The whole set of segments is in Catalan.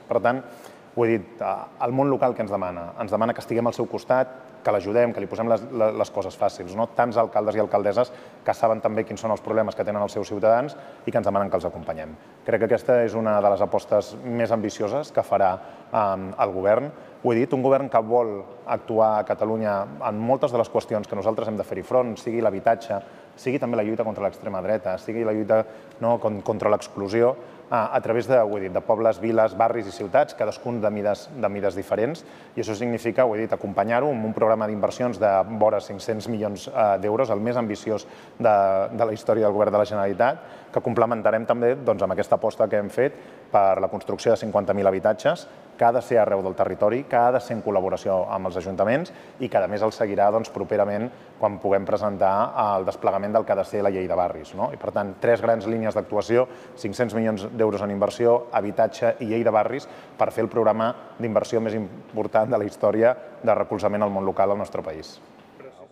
Per tant, ho he dit, el món local que ens demana que estiguem al seu costat, que l'ajudem, que li posem les coses fàcils. Tants alcaldes i alcaldesses que saben també quins són els problemes que tenen els seus ciutadans i que ens demanen que els acompanyem. Crec que aquesta és una de les apostes més ambicioses que farà el govern. Ho he dit, un govern que vol actuar a Catalunya en moltes de les qüestions que nosaltres hem de fer-hi front, sigui l'habitatge, sigui també la lluita contra l'extrema dreta, sigui la lluita contra l'exclusió, a través de pobles, viles, barris i ciutats, cadascun de mides diferents, i això significa, ho he dit, acompanyar-ho amb un programa d'inversions de vora 500 milions d'euros, el més ambiciós de la història del govern de la Generalitat, que complementarem també amb aquesta aposta que hem fet per la construcció de 50.000 habitatges, que ha de ser arreu del territori, que ha de ser en col·laboració amb els ajuntaments i que, a més, el seguirà properament quan puguem presentar el desplegament del que ha de ser la llei de barris. I, per tant, 3 grans línies d'actuació, 500 milions d'euros en inversió, habitatge i llei de barris per fer el programa d'inversió més important de la història de recolzament al món local al nostre país.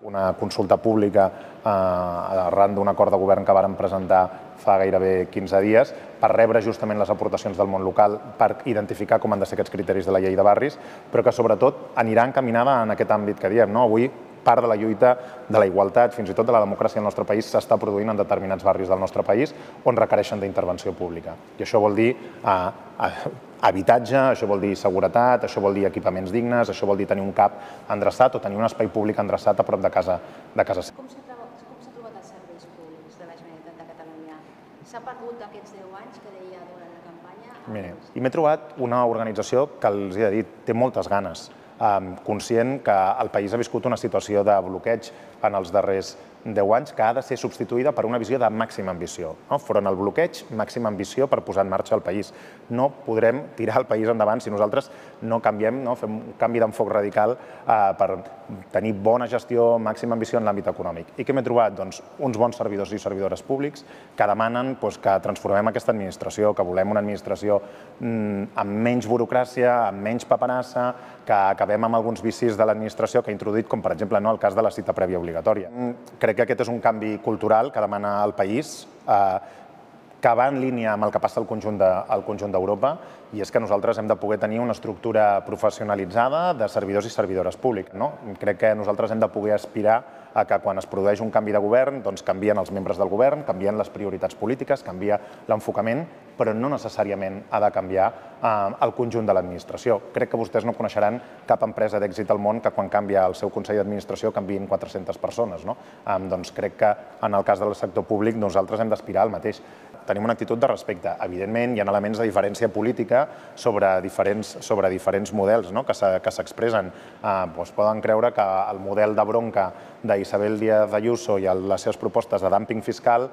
Una consulta pública arran d'un acord de govern que vàrem presentar fa gairebé 15 dies per rebre justament les aportacions del món local, per identificar com han de ser aquests criteris de la llei de barris, però que sobretot anirà encaminada en aquest àmbit que diem. Avui part de la lluita de la igualtat, fins i tot de la democràcia al nostre país, s'està produint en determinats barris del nostre país on requereixen d'intervenció pública. I això vol dir habitatge, això vol dir seguretat, això vol dir equipaments dignes, això vol dir tenir un CAP endreçat o tenir un espai públic endreçat a prop de casa seva. Com s'ha trobat els serveis públics de la Generalitat de Catalunya? S'ha perdut aquests 10 anys que deia durant la campanya? Mira, i m'he trobat una organització que els he dit, té moltes ganes, conscient que el país ha viscut una situació de bloqueig en els darrers 10 anys que ha de ser substituïda per una visió de màxima ambició. Front al bloqueig, màxima ambició per posar en marxa el país. No podrem tirar el país endavant si nosaltres no canviem, fem un canvi d'enfoc radical per tenir bona gestió, màxima ambició en l'àmbit econòmic. I què m'he trobat? Doncs uns bons servidors i servidores públics que demanen que transformem aquesta administració, que volem una administració amb menys burocràcia, amb menys paperassa, que acabem amb alguns vicis de l'administració que ha introduït, com per exemple el cas de la cita prèvia obligatòria. Crec que aquest és un canvi cultural que demana el país, que va en línia amb el que passa al conjunt d'Europa, i és que nosaltres hem de poder tenir una estructura professionalitzada de servidors i servidores públics. Crec que nosaltres hem de poder aspirar a que quan es produeix un canvi de govern, canvien els membres del govern, canvien les prioritats polítiques, canvia l'enfocament, però no necessàriament ha de canviar el conjunt de l'administració. Crec que vostès no coneixeran cap empresa d'èxit al món que quan canvia el seu Consell d'Administració canviïn 400 persones. Doncs crec que en el cas del sector públic nosaltres hem d'aspirar al mateix. Tenim una actitud de respecte. Evidentment, hi ha elements de diferència política sobre diferents models que s'expressen. Poden creure que el model de bronca d'Isabel Díaz Ayuso i les seves propostes de dúmping fiscal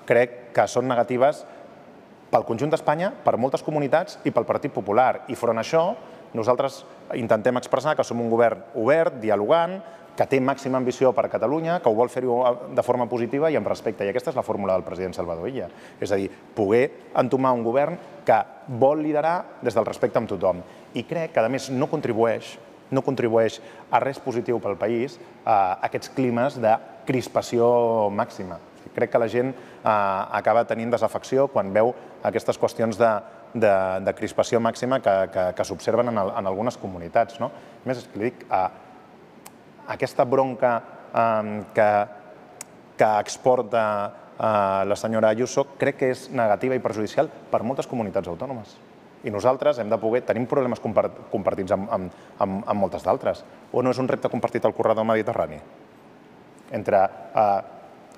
crec que són negatives pel conjunt d'Espanya, per moltes comunitats i pel Partit Popular. I front a això, nosaltres intentem expressar que som un govern obert, dialogant, que té màxima ambició per a Catalunya, que ho vol fer-ho de forma positiva i amb respecte. I aquesta és la fórmula del president Salvador Illa. És a dir, poder entomar un govern que vol liderar des del respecte amb tothom. I crec que, a més, no contribueix a res positiu pel país aquests climes de crispació màxima. Crec que la gent acaba tenint desafecció quan veu aquestes qüestions de crispació màxima que s'observen en algunes comunitats. A més, és que li dic, aquesta bronca que exporta la senyora Ayuso crec que és negativa i perjudicial per moltes comunitats autònomes. I nosaltres hem de poder... Tenim problemes compartits amb moltes d'altres. O no és un repte compartit al corredor mediterrani? Entre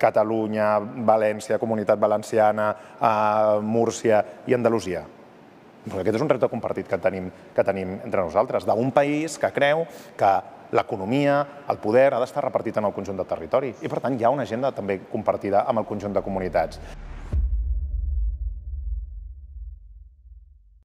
Catalunya, València, Comunitat Valenciana, Múrcia i Andalusia. Aquest és un repte compartit que tenim entre nosaltres, d'un país que creu que l'economia, el poder, ha d'estar repartit en el conjunt del territori. I, per tant, hi ha una agenda també compartida amb el conjunt de comunitats.